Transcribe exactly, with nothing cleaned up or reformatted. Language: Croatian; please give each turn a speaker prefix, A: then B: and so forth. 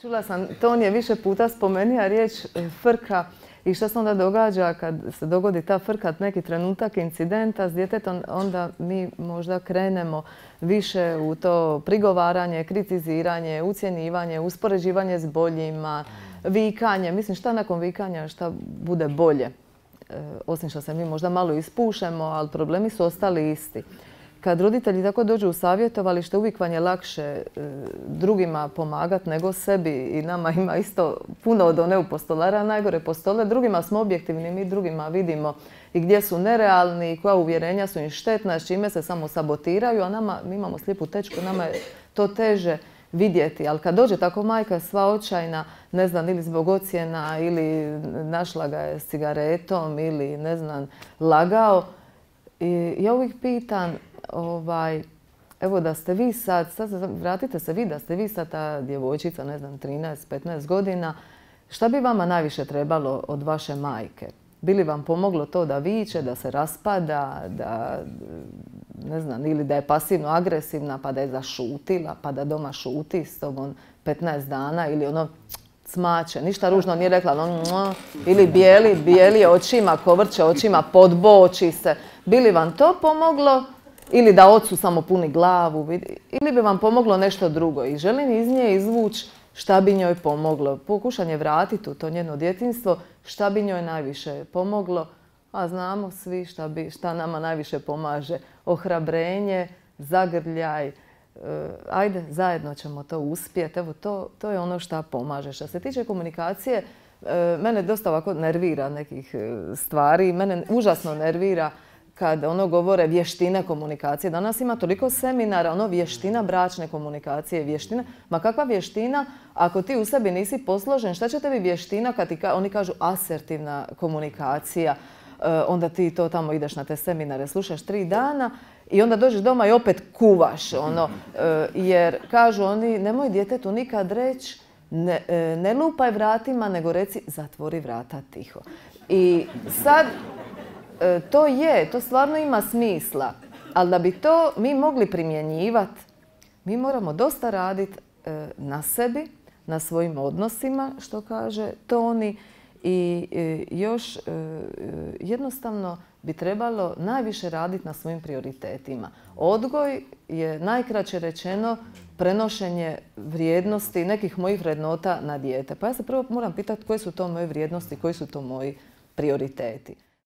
A: Čula sam, Ton je više puta spomenuo riječ frka i što se onda događa kad se dogodi ta frka, neki trenutak incidenta s djetetom, onda mi možda krenemo više u to prigovaranje, kritiziranje, ucjenjivanje, uspoređivanje s boljima, vikanje. Mislim, šta nakon vikanja, šta bude bolje? Osim što se mi možda malo ispušemo, ali problemi su ostali isti. Kad roditelji tako dođu u savjetovalište, uvijek vam je lakše drugima pomagati nego sebi i nama ima isto puno od one u postolara, najgore postole. Drugima smo objektivni, mi drugima vidimo i gdje su nerealni, koja uvjerenja su im štetna, s čime se samo sabotiraju, a nama, mi imamo slijepu tečku, nama je to teže vidjeti. Ali kad dođe tako majka sva očajna, ne znam, ili zbog ocjena, ili našla ga je s cigaretom, ili ne znam, lagao, i ja uvijek pitam, Ovaj, evo da ste vi sad, sad, vratite se vi da ste vi sad ta djevojčica, ne znam, trinaest petnaest godina, šta bi vama najviše trebalo od vaše majke? Bi li vam pomoglo to da viče, da se raspada, da, ne znam, ili da je pasivno agresivna pa da je zašutila, pa da doma šuti s tobom petnaest dana ili ono smače, ništa ružno nije rekla, ono, ili bijeli, bijeli očima, kovrće očima, podboči se. Bi li vam to pomoglo? Ili da ocu samo puni glavu, ili bi vam pomoglo nešto drugo. I želim iz nje izvući šta bi njoj pomoglo. Pokušanje vratiti u to njeno djetinjstvo, šta bi njoj najviše pomoglo. A znamo svi šta, bi, šta nama najviše pomaže. Ohrabrenje, zagrljaj. Ajde, zajedno ćemo to uspjeti. Evo, to, to je ono šta pomaže. Što se tiče komunikacije, mene dosta ovako nervira nekih stvari. Mene užasno nervira kad ono govore vještine komunikacije. Danas ima toliko seminara, ono vještina bračne komunikacije, vještina. Ma kakva vještina ako ti u sebi nisi posložen? Šta će tebi vještina kad ti ka, oni kažu asertivna komunikacija? E, onda ti to tamo ideš na te seminare, slušaš tri dana i onda dođeš doma i opet kuvaš. Ono, e, jer kažu oni, nemoj djetetu nikad reći ne, e, ne lupaj vratima, nego reci zatvori vrata tiho. I sad to je, to stvarno ima smisla, ali da bi to mi mogli primjenjivati, mi moramo dosta raditi na sebi, na svojim odnosima, što kaže Toni, i još jednostavno bi trebalo najviše raditi na svojim prioritetima. Odgoj je najkraće rečeno prenošenje vrijednosti nekih mojih vrednota na dijete. Pa ja se prvo moram pitati koje su to moje vrijednosti, koji su to moji prioriteti.